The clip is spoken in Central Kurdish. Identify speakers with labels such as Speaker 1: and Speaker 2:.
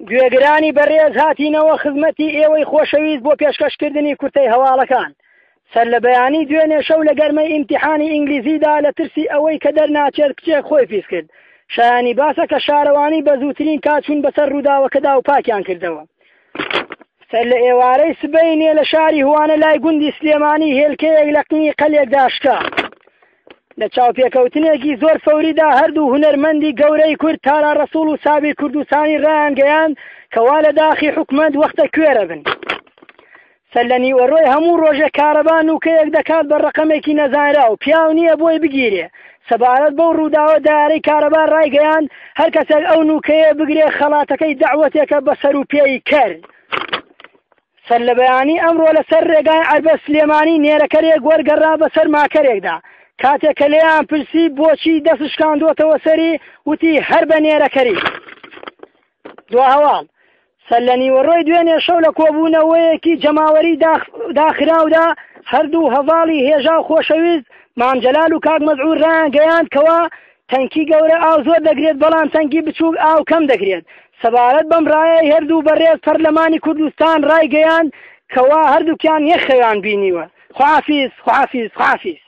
Speaker 1: گوێگرانی بەڕێز هاتینەوە خزمەتی ئێوەی خۆشەویست بۆ پێشکەشکردنی کورتەی هەواڵەکان. سەر لە بەیانی دوێنێ شەو لە گەرمەی ئیمتیحانی ئینگلیزیدا لە ترسی ئەوەی کە دەرناچێت کچێک خۆی پیس کرد. شایانی باسە کە شارەوانی بە زووترین کات چوون بەسەر ڕووداوەکەدا و پاکیان کردەوە. سەر لە ئێوارەی سبەینێ لە شاری هوانە لای گوندی سلێمانی هێلکەیەک لە قنی قەلێکدا شکا. لە چاوپێکەوتنێکی زۆر فەوریدا هەردوو هونەرمەندی گەورەی کورد تارا ڕەسوڵ و سابیر کوردستانی ڕایانگەیاند کەوا لە داخی حکومەت وەختە کوێرە بن. سەر لە نیوەڕۆی هەموو ڕۆژێک کارەبا نوکەیەک دەکات بە ڕەقەمێکی نەزانراو پیاو نییە بۆی بگیرێ سەبارەت بەو ڕووداوە دارەی کارەبا ڕایگەیاند هەر کەسێک ئەو نوکەیە بگرێ خەڵاتەکەی دەعوەتێکە بە سەر و پێی کەر. سەر لە بەیانی ئەمڕۆ لەسەر ڕێگای عەربەت سلێمانی نێرەکەرێک وەرگەڕا بەسەر ماکەرێکدا کاتێک کە لێیان پرسی بۆچی دەست شکاندووەتەوە سەری وتی هەر بە نێرەکەری. دوا هەواڵ سەر لە نیوەڕۆی دوێنێ شەو لە کۆبوونەوەیەکی جەماوەری داخراودا هەردوو هەڤاڵی هێژا و خۆشەویست مام جەلال و کاک مەسعود ڕایانگەیاند کەوا تەنکی گەورە ئاو زۆر دەگرێت بەڵام تەنکی بچووک ئاو کەم دەگرێت سەبارەت بەم ڕایەی هەردوو بەڕێز پەرلەمانی کوردستان ڕایگەیاند کەوا هەردووکیان یەک خەویان بینیوە. خوافیز خوافیز خوافیز.